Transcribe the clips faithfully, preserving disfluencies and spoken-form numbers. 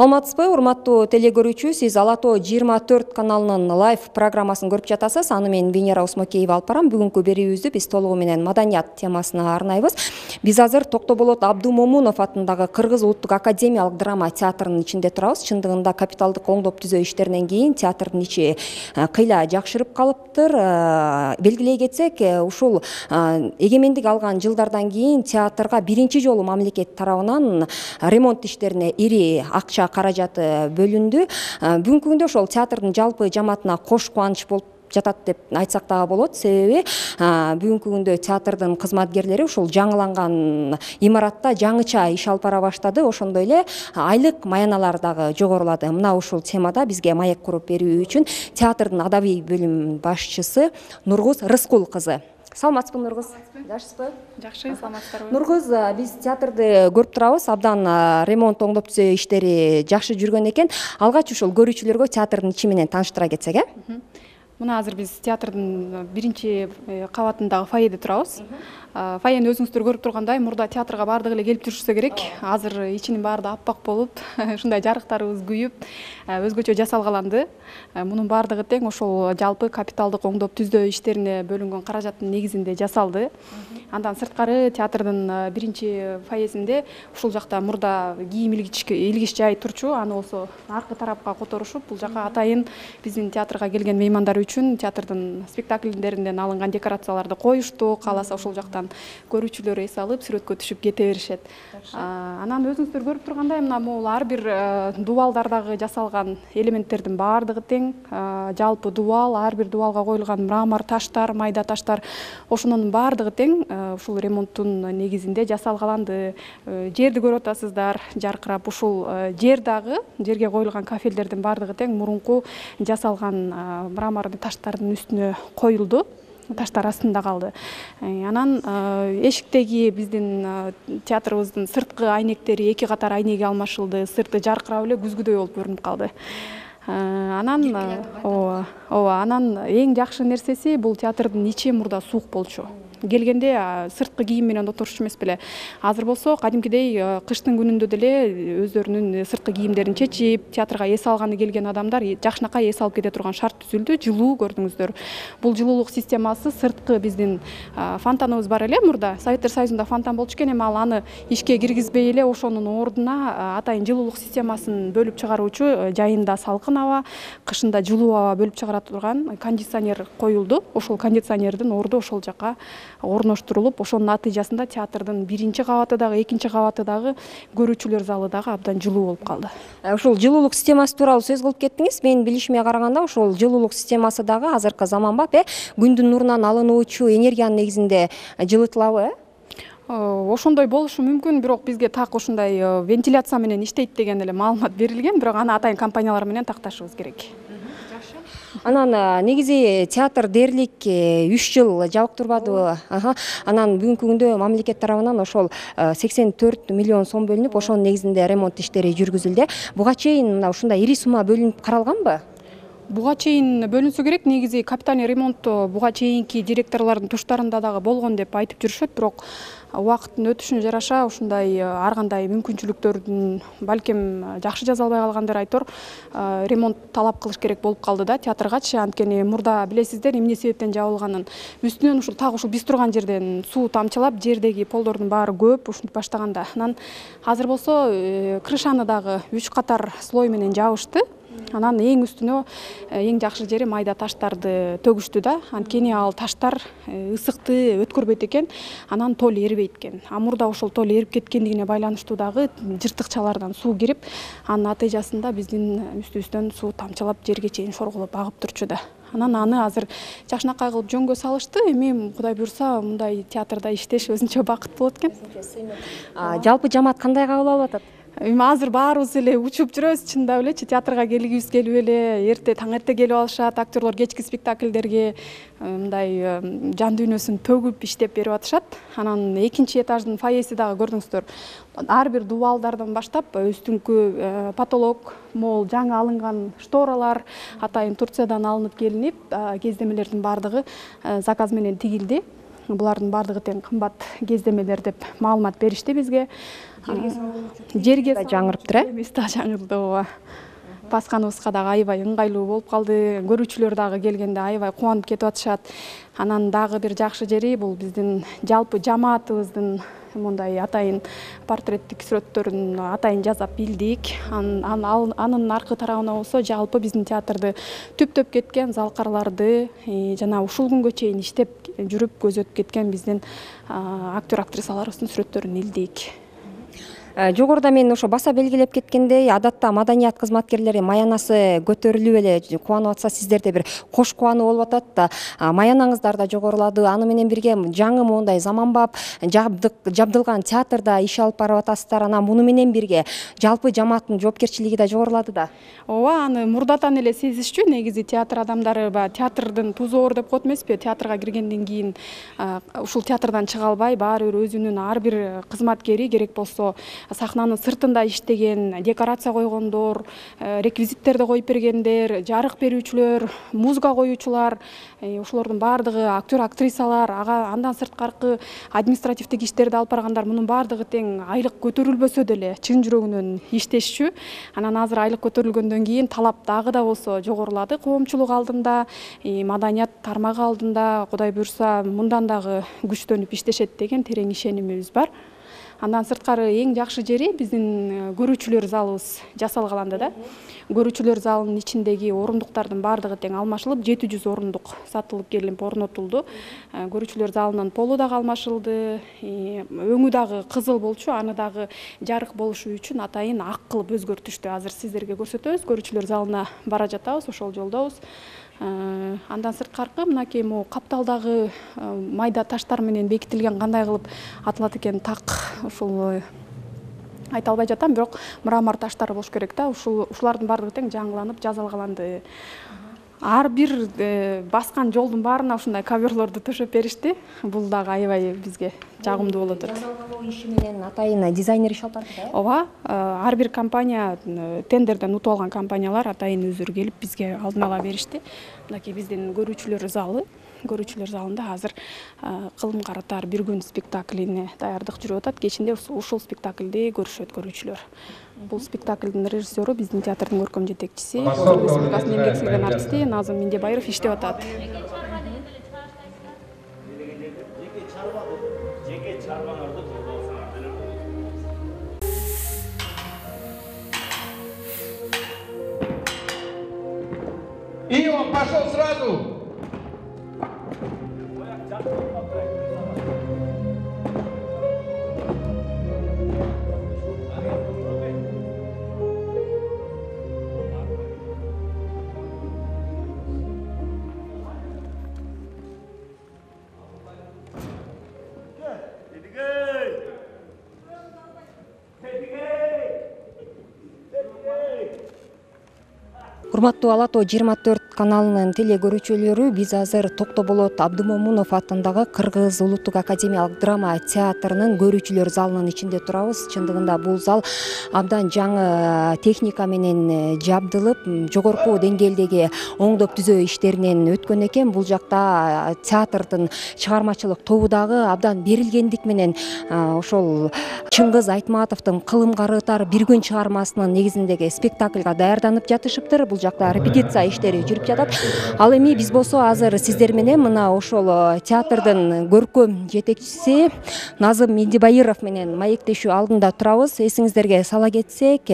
Саламатсызбы, урматтуу теле көрүүчү, сиз Ала Тоо жыйырма төрт каналынын лайв программасын көрүп жатасыз. Аны мен Венера Усмокеева алып барам. Бүгүнкү берүүбүздү биз толугу менен маданият темасына арнайбыз. Биз азыр Токтоболот Абдумомунов атындагы Кыргыз улуттук академиялык драма театрынын ичинде турабыз. Чындыгында капиталдык оңдоп түзөө иштеринен кийин театрдын ичи кыйла жакшырып калыптыр. Белгилей кетсек, ушул эгемендик алган жылдардан кийин театрга биринчи жолу мамлекет тарабынан ремонт иштерине ири акча каражаты бөлүндү. Бүгүнкү күндө ошол театрдын жалпы жамаатына кош кубаныч болуп жатат деп айтсак дагы болот. Себеби бүгүнкү күндө театрдын кызматкерлери ушул жаңыланган имаратта жаңыча иш алып бара баштады. Ошондой эле айлык маяналар дагы жогорулады. Мына ушул темада бизге маек куруп берүү үчүн театрдын адабий бөлүм башчысы Нургуз Рыскул кызы. Саламатсызбы, Нургуз? Жакшысызбы? Жакшы, саламатсыздарбы? Нургуз, биз театрды көрүп турабыз. Абдан ремонт оңдоп түзөө иштери жакшы жүргөн экен. Алгач ушул көрүүчүлөргө театрдын ичи менен тааныштыра кетсек, э? Мына азыр биз театрдын биринчи кабатындагы фойеде турабыз. Фойени өзүңүздөр көрүп тургандай, мурда театрга баардыгы эле келип жүрүшсө керек. Азыр ичинин баары да аппак болуп, ушундай жарыктарыбыз күйүп, өзгөчө жасалгаланды. Мунун баардыгы тең ошол жалпы капиталдык оңдоп түзөө иштерине бөлүнгөн каражаттын негизинде жасалды. Андан сырткары театрдын биринчи фойесинде ушул жакта мурда кийим илгич жай турчу, аны болсо аркы тарапка которушуп, бул жака атайын биздин театрга келген меймандар үчүн театрдын спектакльдеринен алынган декорацияларды коюшту. Кааласа ошол жактан көрүүчүлөр эс алып, сүрөткө түшүп кете беришет. Анан өзүңүздөр көрүп тургандай, мына могул ар бир дубалдардагы жасалган элементтердин баардыгы тең. Жалпы дубал, ар бир дубалга коюлган мрамор таштар, майда таштар, ошонун баардыгы тең ушул ремонттун негизинде жасалгаланды. Жерди көрүп атасыздар, жаркырап. Ушул жер дагы, жерге коюлган кафелдердин баардыгы тең мурунку жасалган мрамор таштардын үстүнө коюлду. Таштар астында калды. Анан эшиктеги биздин театрыбыздын сырткы айнектери эки катар айнеги алмашылды. Сырты жаркырап эле күзгүдөй болуп көрүнүп калды. Анан ооба, ооба, анан эң жакшы нерсеси бул театрдын ичи мурда суук болчу. Келгенде сырткы кийим менен отурчу эмес беле. Азыр болсо кадимкидей кыштын күнүндө деле өздөрүнүн сырткы кийимдерин чечип, театрга эс алганы келген адамдар жакшынакай эс алып кете турган шарт түзүлдү. Жылуу көрдүңүздөр. Бул жылуулук системасы сырткы биздин фонтаныбыз бар эле мурда. Советтер Союзунда фонтан болчу экен, эми ал аны ишке киргизбей эле ошонун ордуна атайын жылуулук системасын бөлүп чыгаруучу, жайында салкын аба, кышында жылуу аба бөлүп чыгара турган кондиционер коюлду. Ошол кондиционердин орду ошол жака орноштурулуп, ошонун натыйжасында театрдын биринчи кабаты дагы, экинчи кабаты дагы, көрүүчүлөр залы дагы абдан жылуу болуп калды. Ушул жылуулук системасы тууралуу сөз кылып кеттиңиз. Менин билишиме караганда, ошол жылуулук системасы дагы азыркы заманбап, э, күндүн нурунан алынуучу энергиянын негизинде жылытылабы, э? Ошондой болушу мүмкүн, бирок бизге так ушундай вентиляция менен иштейт деген эле маалымат берилген, бирок аны атайын компаниялар менен такташыбыз керек. Анан негизи театр дээрлик үч жыл жабык турбадыбы? Анан бүгүнкү күндө мамлекет тарабынан ошол сексен төрт миллион сом бөлүнүп, ошонун негизинде ремонт иштери жүргүзүлдү. Буга чейин мына ушундай ири сума бөлүнүп каралганбы? Буга чейин бөлүнсө керек. Негизи капитальный ремонт буга чейинки директорлордун туштарында дагы болгон деп айтып жүрүшөт, бирок убакыттын өтүшүнө жараша ушундай ар кандай мүмкүнчүлүктөрдүн балким жакшы жаза албай калгандыр айтор, ремонт талап кылыш керек болуп калды да театргачы. Анткени мурда билесиздер эмне себептен жабылганын. Үстүнөн ушул так ушул биз турган жерден суу тамчылап, жердеги полдордун баары көп ушинтип баштаганда. Анан азыр болсо крышаны дагы үч катар слой менен жабышты. Анан эң үстүнө эң жакшы жери майда таштарды төгүштү да. Анткени ал таштар ысыкты өткөрбөйт экен, анан тол эрибейт экен. А мурда ошол тол эрип кеткендигине байланыштуу дагы жыртыкчалардан суу кирип, анын натыйжасында биздин үстүбүздөн суу тамчылап жерге чейин шорголоп агып турчу да. Анан аны азыр жакшынакай кылып жөнгө салышты. Эми Кудай буйрса, мындай театрда иштеш өзүнчө бакыт болот экен. Жалпы жамаат кандай кабыл алып атат? Эми азыр баарыбыз эле учуп жүрөбүз, чындап элечи. Театрга келгибиз келип эле, эрте таң эрте келип алышат, актерлор кечки спектакльдерге мындай жан дүйнөсүн төгүп иштеп берип атышат. Анан экинчи этаждын фойеси дагы көрдүңүздөр. Ар бир дубалдардан баштап үстүңкү потолок, могул жаңы алынган шторалар атайын Турциядан алынып келинип, кездемелердин баардыгы заказ менен тигилди. булардын баардыгы тең кымбат кездемелер деп маалымат беришти бизге. Жерге жаңырыптыр, э? Эмес да жаңырды, ооба. Басканыбызга дагы аябай ыңгайлуу болуп калды. Көрүүчүлөр дагы келгенде аябай кубанып кетип атышат. Анан дагы бир жакшы жери бул биздин жалпы жамаатыбыздын мындай атайын портреттик сүрөттөрүн атайын жасап билдик. Анын аркы тарабына болсо жалпы биздин театрды түптөп кеткен залкарларды жана ушул күнгө чейин иштеп жүрүп көзөтүп кеткен биздин актер актрисаларыбыздын сүрөттөрүн илдик. Жогоруда мен ошо баса белгилеп кеткендей, адатта маданият кызматкерлери маянасы көтөрүлүп эле кубанып атса, сиздерде бир кош кубануу болуп атат да. Маянаңыздар да жогорулады. Аны менен бирге жаңы моундай заманбап жабдылган театрда иш алып барып атасыздар. Анан муну менен бирге жалпы жамааттын жоопкерчилиги да жогорулады да. Ооба, аны мурдатан эле сезишчү. Негизи театр адамдары баягы театрдын тузоор деп коет эмеспи? Театрга киргенден кийин ушул театрдан чыга албай, баары бир өзүнүн ар бир кызматкери керек болсо сахнанын сыртында иштеген, декорация койгондор, реквизиттерди коюп бергендер, жарык берүүчүлөр, музыка коюучулар, ошолордун баардыгы актер актрисалар, ага андан сырткаркы административдик иштерди алып баргандар, мунун баардыгы тең айлык көтөрүлбөсө деле чын жүрөгүнөн иштешчү. Анан азыр айлык көтөрүлгөндөн кийин талап дагы да болсо жогорулады коомчулук алдында, маданият тармагы алдында. Кудай буйрса мындан дагы күчтөнүп иштешет деген терең ишенимибиз бар. Андан сырткары эң жакшы жери биздин көрүүчүлөр залыбыз жасалгаланды да. Көрүүчүлөр залынын ичиндеги орундуктардын баардыгы тең алмашылып, жети жүз орундук сатылып келип орнотулду. Көрүүчүлөр залынын полу дагы алмашылды. Өңү дагы кызыл болчу, аны дагы жарык болушу үчүн атайын ак кылып өзгөртүштү. Азыр сиздерге көрсөтөбүз. Көрүүчүлөр залына бара жатабыз, ошол жолдобуз. Андан сырткаркы мынакей могу капталдагы майда таштар менен бекитилген кандай кылып атылат экен так, ушул айта албай жатам, бирок мрамор таштар болуш керек да. Ушул ушулардын баардыгы тең жаңыланып, жазалгаланды. Ар бир баскан жолдун баарына ушундай коверлорду төшөп беришти. Бул дагы аябай бизге жагымдуу болот. Жазалгалоо иши менен атайын дизайнер иш алып барды да. Ооба, ар бир компания, тендерден утуп алган компаниялар атайын өздөрү келип бизге алдын ала беришти. Мынакей биздин көрүүчүлөр залы, көрүүчүлөр залында азыр кылым каратар бир күн спектаклине даярдык жүрүп атат. Кечинде ушул спектакльди көрүшөт көрүүчүлөр. Бул спектакльдин режиссеру биздин театрдын көркөм жетекчиси, республикасынын эмгек сиңген артисти Назым Миндебаиров иштеп атат. И он пошел сразу. Урматтуу Ала Тоо жыйырма төрт каналынын теле көрүүчүлөрү, биз азыр Токтоболот Абдымомунов атындагы Кыргыз улуттук академиялык драма театрынын көрүүчүлөр залынын ичинде турабыз. Чындыгында бул зал абдан жаңы техника менен жабдылып, жогорку деңгээлдеги оңдоп түзөө иштеринен өткөн экен. Бул жакта театрдын чыгармачылык тобу дагы абдан берилгендик менен ошол Чыңгыз Айтматовдун Кылым карытар бир күн чыгармасынын негизиндеги спектаклга даярданып жатышыптыр. Бул жакта репетиция иштери жүрүп жатат. Ал эми биз болсо азыр сиздер менен мына ошол театрдын көркөм жетекчиси Назым Миндебаиров менен маектешүү алдында турабыз. Эсиңиздерге сала кетсек,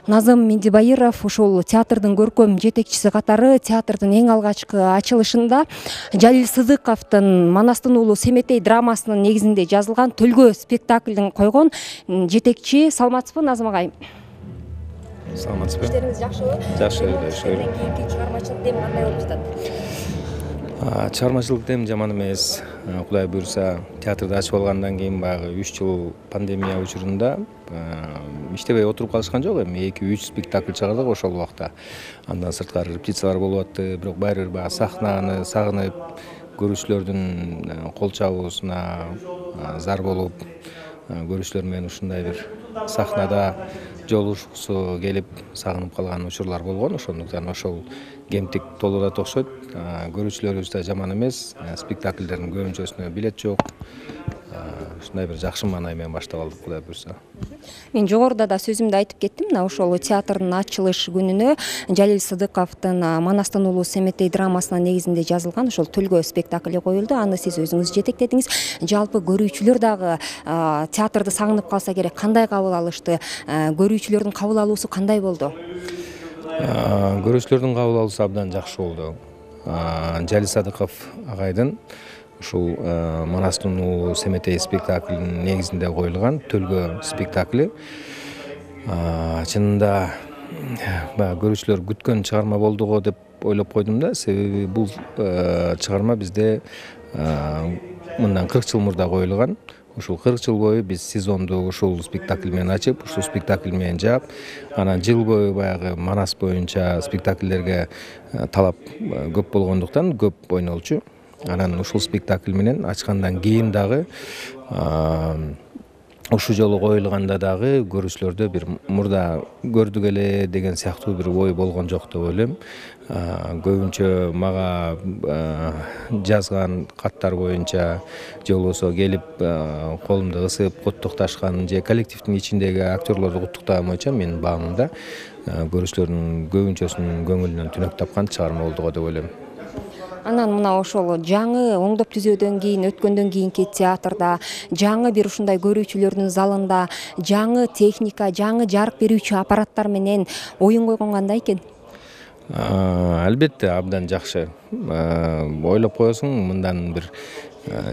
Назым Миндебаиров ушул театрдын көркөм жетекчиси катары театрдын эң алгачкы ачылышында Жалил Сыдыковдун Манастын уулу Семетей драмасынын негизинде жазылган Төлгө спектаклин койгон жетекчи. Саламатсызбы, Назым агай? Саламатсызбы? Иштериңиз жакшыбы? Жакшы, жакшы. Кийинки чыгармачылык дем кандай болуп жатат? Чыгармачылык дем жаман эмес. Кудай буйрса, театрды ачып алгандан кийин баягы үч жыл пандемия учурунда иштебей отуруп калышкан жок. Эми эки үч спектакль чыгардык ошол убакта. Андан сырткары репетициялар болуп атты, бирок баары бир баягы сахнаны сагынып, көрүүчүлөрдүн кол чабуусуна зар болуп, көрүүчүлөр менен ушундай бир сахнада жолугушкусу келип сагынып калган учурлар болгон. Ошондуктан ошол кемтик толуп окшойт. Көрүүчүлөрүбүз да жаман эмес. Спектакльдердин көбүнчөсүнө билет жок. Ушундай бир жакшы маанай менен баштап алдык, Кудай буйрса. Мен жогоруда да сөзүмдө айтып кеттим. Мына ошол театрдын ачылыш күнүнө Жалил Сыдыковдун Манастын уулу Семетей драмасынын негизинде жазылган ошол Төлгө спектакли коюлду. Аны сиз өзүңүз жетектедиңиз. Жалпы көрүүчүлөр дагы театрды сагынып калса керек, кандай кабыл алышты? Көрүүчүлөрдүн кабыл алуусу кандай болду? Көрүүчүлөрдүн кабыл алуусу абдан жакшы болду. Жалил Сыдыков агайдын ушул Манастын уулу Семетей спектаклинин негизинде коюлган Төлгө спектакли чынында баягы көрүүчүлөр күткөн чыгарма болду го деп ойлоп койдум да. Себеби бул чыгарма бизде мындан кырк жыл мурда коюлган. Ушул кырк жыл бою биз сезонду ушул спектакль менен ачып, ушул спектакль менен жаап, анан жыл бою баягы Манас боюнча спектакльдерге талап көп болгондуктан көп ойнолчу. Анан ушул спектакль менен ачкандан кийин дагы ушул жолу коюлганда дагы көрүүчүлөрдө бир мурда көрдүк эле деген сыяктуу бир ой болгон жок деп ойлойм. Көбүнчө мага жазган каттар боюнча же болбосо келип колумду ысып куттукташкан же коллективдин ичиндеги актерлорду куттуктаган боюнча менин баамымда көрүүчүлөрдүн көбүнчөсүнүн көңүлүнөн түнөк тапкан чыгарма болду го деп ойлойм. Анан мына ошол жаңы оңдоп түзөөдөн кийин өткөндөн кийинки театрда, жаңы бир ушундай көрүүчүлөрдүн залында, жаңы техника, жаңы жарык берүүчү аппараттар менен оюн койгон кандай экен? Албетте абдан жакшы. Ойлоп коесуң, мындан бир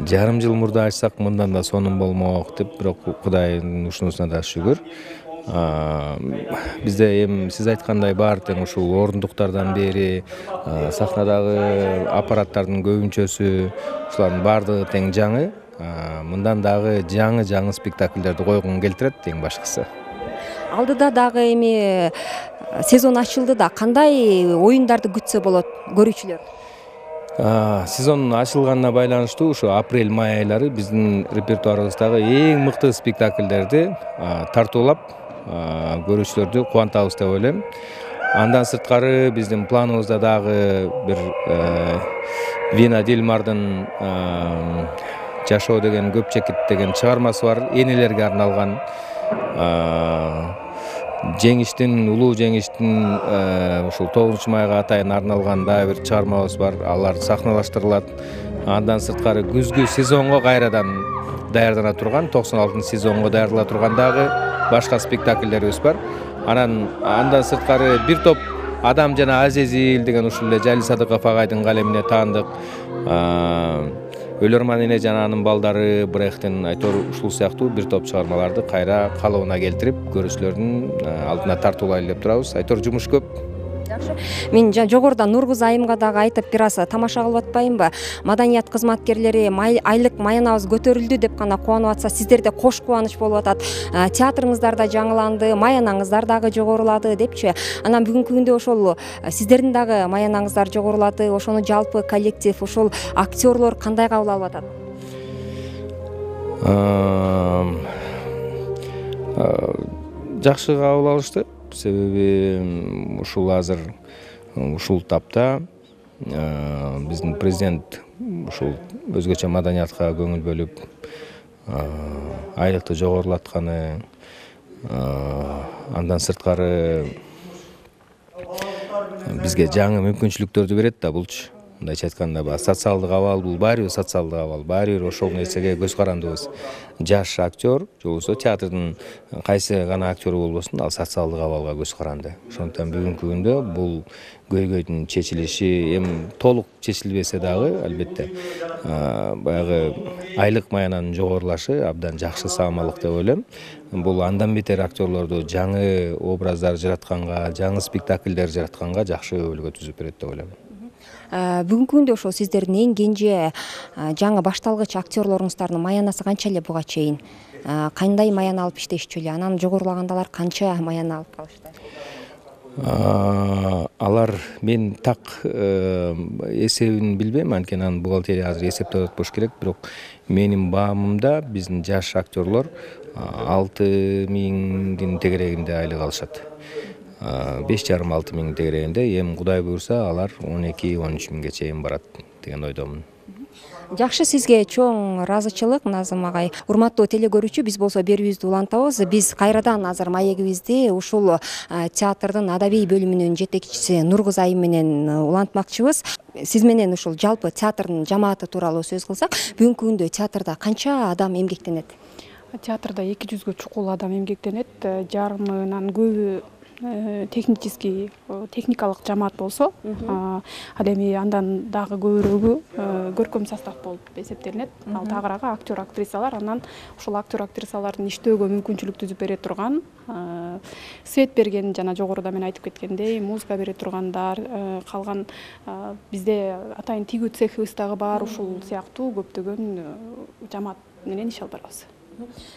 жарым жыл мурда ачсак, мындан да сонун болмок деп, бирок Кудайдын ушунусуна да шүгүр. Бизде эми сиз айткандай баары тең ушул орундуктардан бери сахнадагы аппараттардын көбүнчөсү ушулардын баардыгы тең жаңы. Мындан дагы жаңы-жаңы спектакльдерди койгум келтирет эң башкысы. Алдыда дагы эми сезон ачылды да, кандай оюндарды күтсө болот көрүүчүлөр? Сезон ачылганына байланыштуу ушу апрель-май айлары биздин репертуарыбыздагы эң мыкты спектакльдерди тартуулап көрүүчүлөрдү кубантабыз деп ойлойм. Андан сырткары биздин планыбызда дагы бир Вина Дилмардын Жашоо деген көп чекит деген чыгармасы бар, энелерге арналган. Жеңиштин, улуу жеңиштин ушул тогузунчу майга атайын арналган дагы бир чыгармабыз бар. Алар сахналаштырылат. Андан сырткары күзгү сезонго кайрадан даярдана турган, токсон алтынчы сезонго даярдала турган дагы башка спектакльдерибиз бар. Анан андан сырткары бир топ Адам жана Азезил деген ушул эле Жалил Сыдыков агайдын калемине таандык Өлөрман эне жана анын балдары, Брехтин, Айтор ушул сыяктуу бир топ чыгармаларды кайра калыбына келтирип, көрүүчүлөрдүн алдына тартуулайлы деп турабыз. Айтор жумуш көп. Жакшы. Мен жогоруда Нургуз айымга дагы айтып бир аз тамаша кылып атпайынбы? Маданият кызматкерлери айлык маянабыз көтөрүлдү деп гана кубанып атса, сиздерде кош кубаныч болуп атат. Театрыңыздар да жаңыланды, маянаңыздар дагы жогорулады депчи. Анан бүгүнкү күндө ошол сиздердин дагы маянаңыздар жогорулады. Ошону жалпы коллектив, ошол актерлор кандай кабыл алып атат? Жакшы кабыл алышты. Себеби ушул азыр ушул тапта биздин президент ушул өзгөчө маданиятка көңүл бөлүп айлыкты жогорулатканы, андан сырткары бизге жаңы мүмкүнчүлүктөрдү берет да булчу. Мындайча айтканда, баягы социалдык абал, бул баары бир социалдык абал, баары бир ошол нерсеге көз карандыбыз. Жаш актер, же болбосо театрдын кайсы гана актеру болбосун, ал социалдык абалга көз каранды. Ошондуктан бүгүнкү күндө бул көйгөйдүн чечилиши эми толук чечилбесе дагы, албетте, баягы айлык маянанын жогорулашы абдан жакшы саамалык деп ойлойм. Бул андан бетер актерлорду жаңы образдар жаратканга, жаңы спектакльдер жаратканга жакшы өбөлгө түзүп берет деп ойлойм. Бүгүнкү күндө ошол сиздердин эң кенже жаңы башталгыч актерлоруңуздардын маянасы канча эле буга чейин? Кандай маяна алып иштешчү эле? Анан жогорулагандалар канча маяна алып калышты? Алар мен так эсебин билбейм, анткени анын бухгалтерия азыр эсептеп атпаш керек, бирок менин баамымда биздин жаш актерлор алты миңдин тегерегинде айлык алышат. беш жарым алты миң тегерегинде, эми Кудай буйрса алар он эки он үч миңге чейин барат деген ойдомун. Жакшы, сизге чоң ыраазычылык Назым агай. Урматтуу теле көрүүчү, биз болсо берүүбүздү улантабыз. Биз кайрадан азыр маегибизди ушул театрдын адабий бөлүмүнүн жетекчиси Нургуза айым менен улантмакчыбыз. Сиз менен ушул жалпы театрдын жамааты тууралуу сөз кылсак, бүгүнкү күндө театрда канча адам эмгектенет? Театрда эки жүзгө чукул адам эмгектенет. Жарымынан көбү технический техникалык жамаат болсо, ал эми андан дагы көбүрөөгү көркөм состав болуп эсептелинет. Ал тагыраагы актер актрисалар, анан ушул актер актрисалардын иштөөгө мүмкүнчүлүк түзүп бере турган, свет берген, жана жогоруда мен айтып кеткендей, музыка бере тургандар, калган бизде атайын тигүү цехыбыз дагы бар, ушул сыяктуу көптөгөн жамаат менен иш алып барабыз.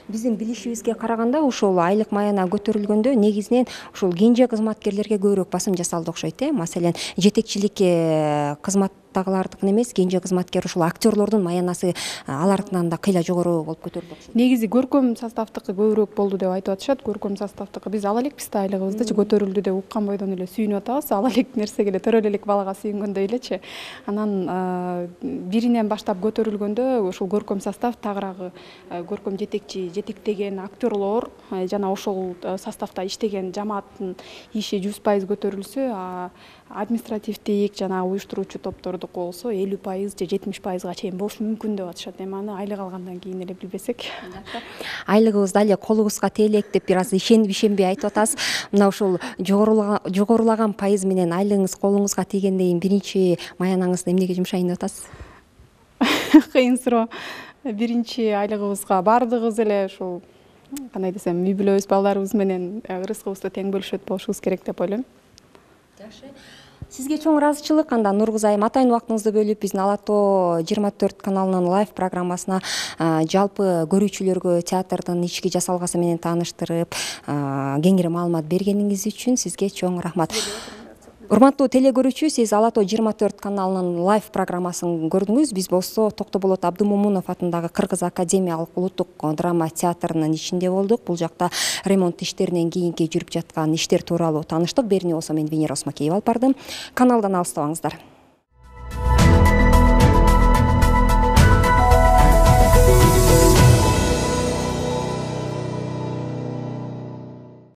Биздин билишибизге караганда ушул айлык маяна көтөрүлгөндө негизинен ушул кенже кызматкерлерге көбүрөөк басым жасалды окшойт, э? Маселен, жетекчиликке кызматтагылардыкын эмес, кенже кызматкер ушул актерлордун маянасы алардын да кыйла жогору болуп көтөрүлдү. Негизи көркөм составдыкы көбүрөөк болду деп айтып атышат. Көркөм составдыкы биз ала элекпиз да, айлыгыбызды көтөрүлдү деп уккан бойдон эле сүйүнүп атабыз. Ала элек нерсеге эле төрөлө элек балага сүйүнгөндөй элечи. Анан биринен баштап көтөрүлгөндө ушул көркөм состав тагыраагы көркөм жетекчи, жетектеген актерлор жана ошол составда иштеген жамааттын иши жүз пайыз көтөрүлсө, административдик жана уюштуруучу топтордуку болсо элүү пайыз же жетимиш пайызга чейин болушу мүмкүн деп атышат. Эми аны айлык алгандан кийин эле билбесек. Айлыгыбызды эле колубузга тиелек деп бир аз ишенип ишенбей айтып атасыз. Мына ушул жогорулаган пайыз менен айлыгыңыз колуңузга тийгенден кийин биринчи маянаңызды эмнеге жумшайын деп атасыз? Кыйын суроо. Биринчи айлыгыбызга баардыгыбыз эле ушул кандай десем, үй бүлөбүз, балдарыбыз менен рызкыбызды тең бөлүшөт болушубуз керек деп ойлойм. Жакшы. Сизге чоң ыраазычылык. Анда Нургуза айым, атайын убактыңызды бөлүп биздин Ала тоо жыйырма төрт каналынын лайв программасына жалпы көрүүчүлөргө театрдын ички жасалгасы менен тааныштырып, кеңири маалымат бергениңиз үчүн сизге чоң рахмат. Урматтуу теле көрүүчү, сиз Ала тоо жыйырма төрт каналынын лайв программасын көрдүңүз. Биз болсо Токтоболот Абдымомунов атындагы Кыргыз академиялык улуттук драма театрынын ичинде болдук. Бул жакта ремонт иштеринен кийинки жүрүп жаткан иштер тууралуу тааныштык. Берүүнү болсо мен Венера Осмокеева алып бардым. Каналдан алыстабаңыздар.